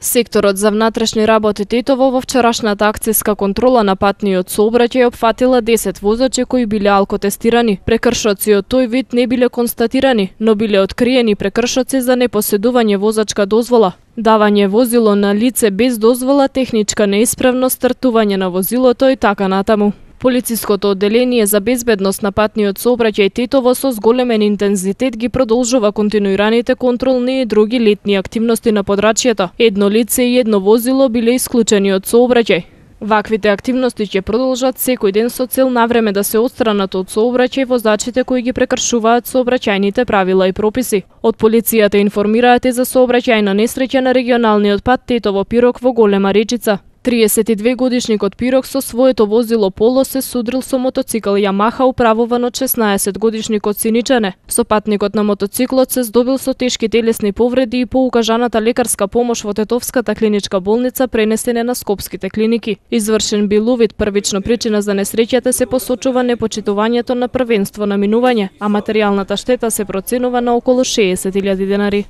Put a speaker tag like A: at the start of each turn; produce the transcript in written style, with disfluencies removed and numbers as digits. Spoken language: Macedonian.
A: Секторот за внатрешни работи Тетово во вчерашната акцијска контрола на патниот сообраќај опфатила 10 возачи кои биле алкотестирани. Прекршоци од тој вид не биле констатирани, но биле откриени прекршоци за непоседување возачка дозвола, давање возило на лице без дозвола, техничка неисправност, стартување на возилото и така натаму. Полициското одделение за безбедност на патниот сообраќај Тетово со зголемен интензитет ги продолжува континуираните контролни и други летни активности на подрачјето. Едно лице и едно возило биле исклучени од сообраќај. Ваквите активности ќе продолжат секој ден со цел навреме да се отстранат од сообраќај возачите кои ги прекршуваат сообраќајните правила и прописи. Од полицијата информираат и за сообраќајна несреќа на регионалниот пат Тетово-Пирок во Голема Речица. 32 годишникот Пирок со своето возило Поло се судрил со мотоцикл Јамаха управуван од 16 годишникот Синичане. Сопатникот на мотоциклот се здобил со тешки телесни повреди и по укажаната лекарска помош во Тетовската клиничка болница пренесен е на скопските клиники. Извршен бил увид, првична причина за несреќата се посочува непочитувањето на првенство на минување, а материјалната штета се проценува на околу 60.000 денари.